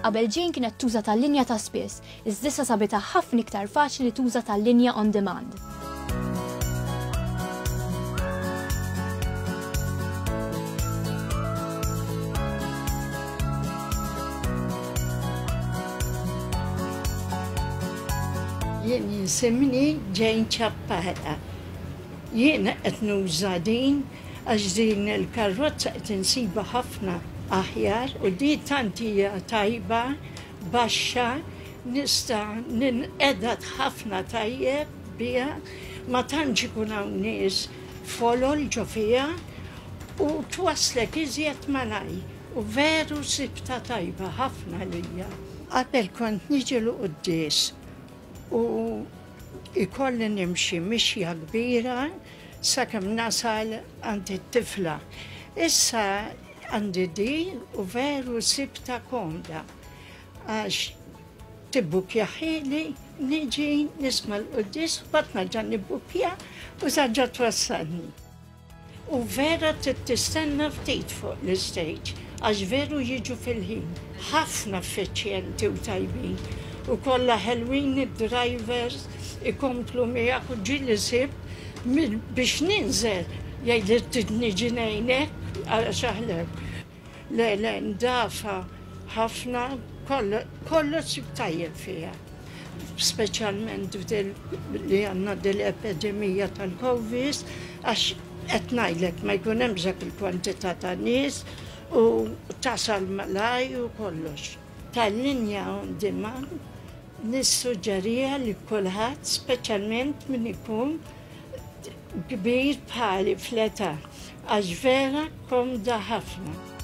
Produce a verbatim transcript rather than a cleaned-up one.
Qabel Jane kienet tuża tal-linja ta' spiss, iżda issa sabitha ħafna iktar faċli tuża tal-linja on demand. Jien jisimni Jane Ciappara. Jien qed nuża din għax din il-karozza qed insiba ħafna aħjar u di tant hija tajba, baxxa, nista' ninqeda ħafna tajjeb biha, ma tantx ikun hawn nies folol ġo fiha u twasslek iżjed malajr u veru sibta tajba ħafna lija. Qabel kont niġi l-quddies u ikolli nimxi mixja kbira sakemm nasal għand it-tifla. Issa għandi di u veru sibta komda għax tibbukjahieli, niġi nisma' l-quddies u mbagħad nerġa' nibbukja u terġa' twassalni. U vera trid tistenna ftit fuq l-istage għax veru jiġu fil-ħin. Ħafna effiċjenti u tajbin u kollha ħelwin id-drivers ikomplu miegħek u ġieli sib biex ninżel jgħidli trid niġi ngħinek għax aħlew. Le, le, ndafa ħafna, kollox sib tajjeb fiha. Speċjalment li għandna dil-epidemija tal-Covid għax qed ngħidlek ma jkun hemm dak il-kwantità ta' nies u tasal malaj u kollox. Tal-linja on demand nissuġġerija li kulħadd, speċjalment min ikun kbir bħali fl-età, għax vera komda ħafna.